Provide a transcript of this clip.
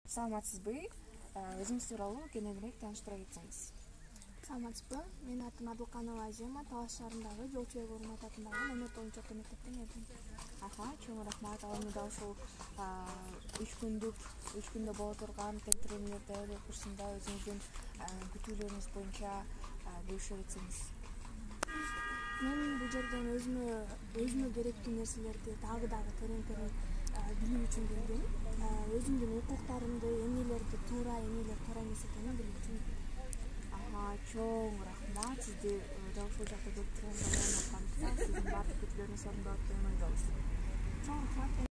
Саламатсызбы? Өзүңүз тууралуу кененирээк тааныштыра кетсеңиз. Саламатсызбы? Менин атым Адылканова Азема, Талаш шаарындагы Жолчу Эгормат атындагы номер 10 мектептен келдим. Чоң рахмат. Ал эми дал ушул 3 күндө боло турган тең курсунда өзүңүздүн күтүүлөрүңүз боюнча бөлүшө кетсеңиз. Мен бул жерден өзүмө керектүү нерселерди дагы терең билүү үчүн келдим. Өзүмдүн укуктарымды, эмнелерди туура, эмнелер туура эмес экенин билүү үчүн. Чоң рахмат. Сизди дал ушул жакта көрүп турганга аткандыктан сиздин баардык күтүүлөрүңүз орундалат деп ойлойбуз. Чоң рахмат.